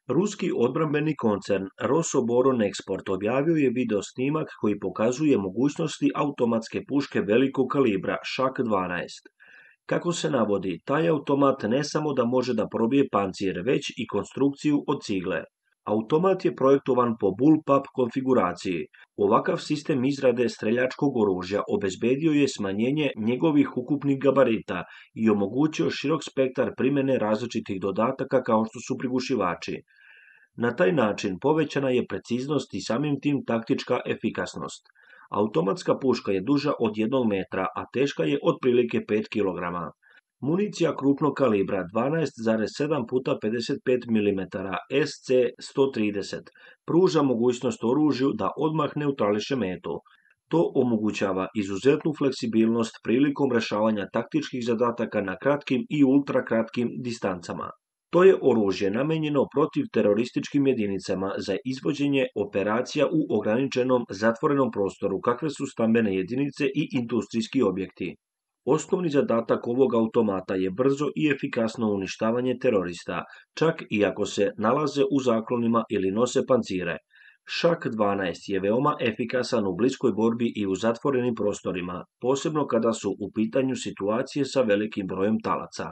Ruski odbrambeni koncern Rosoboronexport objavio je video snimak koji pokazuje mogućnosti automatske puške velikog kalibra Šak-12. Kako se navodi, taj automat ne samo da može da probije pancir, već i konstrukciju od cigle. Automat je projektovan po bullpup konfiguraciji. Ovakav sistem izrade streljačkog oružja obezbedio je smanjenje njegovih ukupnih gabarita i omogućio širok spektar primjene različitih dodataka kao što su prigušivači. Na taj način povećana je preciznost i samim tim taktička efikasnost. Automatska puška je duža od 1 metra, a teška je otprilike 5 kg. Municija krupnog kalibra 12,7 x 55 mm SC-130 pruža mogućnost oružju da odmah neutrališe metu. To omogućava izuzetnu fleksibilnost prilikom rješavanja taktičkih zadataka na kratkim i ultrakratkim distancama. To je oružje namijenjeno protiv terorističkim jedinicama za izvođenje operacija u ograničenom zatvorenom prostoru kakve su stambene jedinice i industrijski objekti. Osnovni zadatak ovog automata je brzo i efikasno uništavanje terorista, čak i ako se nalaze u zaklonima ili nose pancire. Šak-12 je veoma efikasan u bliskoj borbi i u zatvorenim prostorima, posebno kada su u pitanju situacije sa velikim brojem talaca.